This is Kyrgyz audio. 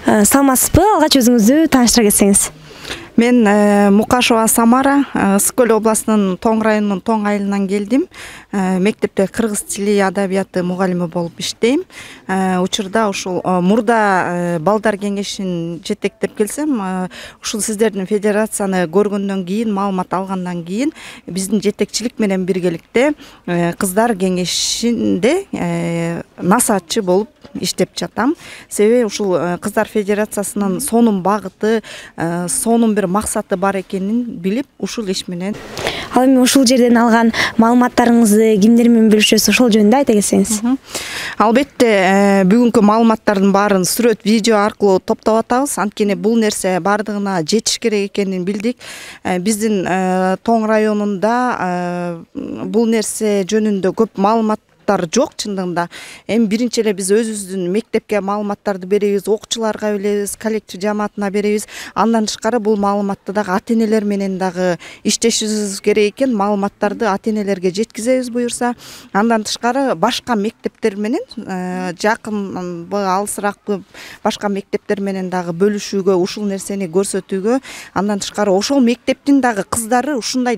Саламатсызбы? Алгач өзүңүздү тааныштыра кетсеңиз. Мен Мукашева Самара, Ысык-Көл областынын Тоң районунун Тоң айылынан келдим. Мектепте кыргыз тили адабияты мугалими болуп иштейм. Учурда ушул мурда балдар кеңешин жетектеп келсем, ушул сиздердин федерацияны көргөндөн кийин, маалымат алгандан кийин биздин жетекчилик менен биргеликте кыздар кеңешинде насаатчы болуп иштеп жатам. Себеби ушул кыздар федерациясынын сонун багыты, сонун бир максаты бар экенин билип, ушул иш менен. Ал эми ушул жерден алган маалыматтарыңызды кимдер менен бөлүшөсүз, ошол жөнүндө айта кетсеңиз. Албетте, бүгүнкү маалыматтардын баарын сүрөт, видео аркылуу топтоп атабыз. Анткени бул нерсе бардыгына жетиш керек экенин билдик. Биздин Тоң районунда бул нерсе жөнүндө көп маалымат жок чындыгында. Эми биринчи эле биз өзүбүздүн мектепке маалыматтарды беребиз, окуучуларга беребиз, коллектив жамаатына беребиз. Андан тышкары бул маалыматты дагы ата-энелер менен дагы иштешибиз керек экен. Маалыматтарды ата-энелерге жеткизебиз буюрса. Андан тышкары башка мектептер менен, жакынбы, алысыракпы башка мектептер менен дагы бөлүшүүгө, ушул нерсени көрсөтүүгө, андан тышкары ошол мектептин дагы кыздары ушундай